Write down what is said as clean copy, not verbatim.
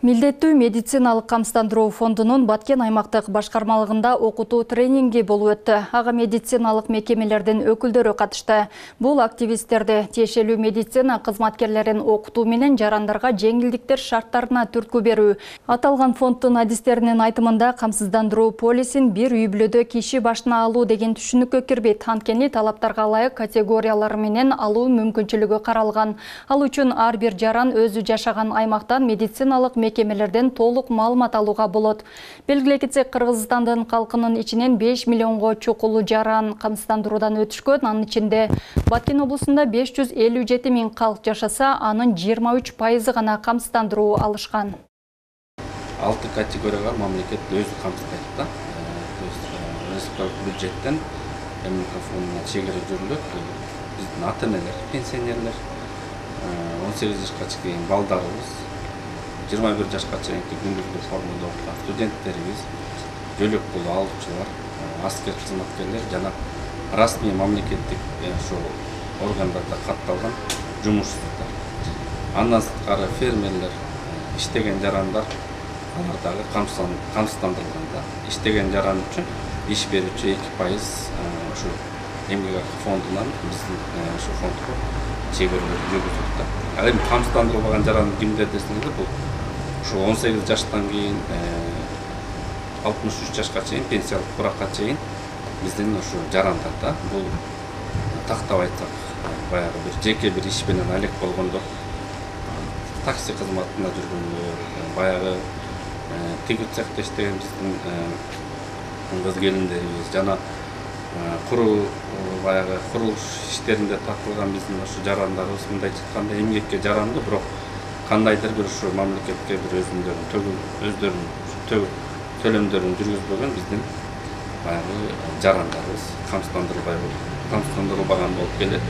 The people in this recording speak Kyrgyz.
Милдеттүү медициналык камсыздандыруу фондунун Баткен аймактык башкармалыгында окутуу тренинги болуп өттү. Ага медициналык мекемелердин өкүлдөрү катышты. Бул активисттерди тиешелүү медицина кызматкерлерин окутуу менен жарандарга жеңилдиктер шарттарына түрткү берүү. Аталган фонддун адистеринин айтымында камсыздандыруу полисин бир үй бүлөдө киши башына алуу деген түшүнүккө кирбейт. Анткени талаптарга ылайык категориялары менен алуу мүмкүнчүлүгү каралган. Ал үчүн ар бир жаран өзү жашаган аймактан медициналык мекемелерден толук маалымат алууга болот. Белгилей кетсек, Кыргызстандын калкынын ичинен 5 миллионго чукул жаран камсыздандыруудан өтүшкөн. Анын ичинде Баткен облусунда 557 миң калк жашаса, анын 23% гана камсыздандыруу алышкан. 6 категорияга мамлекет өзү камсыздайт да. Республикалык бюджеттен МК фондуна чегара жүрүлөт. Биздин ата-энелер, пенсионерлер, 18 жашка чейин балдарыбыз, 21 жашка чейинки күндүзгү формада окуган студенттерибиз, жөлөк пул алуучулар, аскер кызматкерлер жана расмий мамлекеттик органдарда катталган жумушчулар. Андан сырткары фермерлер, иштеген жарандар алар дагы камсыздандырылган да. Иштеген жаран үчүн иш берүүчү 2% ушу эмгек акы фондунан биздин ушу фондго чегерелер жүргүзүлөт да. Ал эми камсыздандырылбаган жаран кимдер десеңиз, бул ушу 18 жаштан кийин 63 жашка чейин пенсиялык буракка чейин биздин ушу жарандар да. Бул тактап айтсак, баягы бир жеке бир иш менен алек болгондор, такси кызматында жүргөндөр, баягы тигит цехте иштеген биздин кыз келиндерибиз жана баягы курулуш иштеринде тартылган биздин ушу жарандарыбыз, мындайча айтканда эмгекке жарандуу, бирок кандайдыр бир ушу мамлекетке бир өздөрүнүн төлөмдөрүн жүргүзбөгөн биздин баягы жарандарыбыз камсыздандырылбаган болуп келет.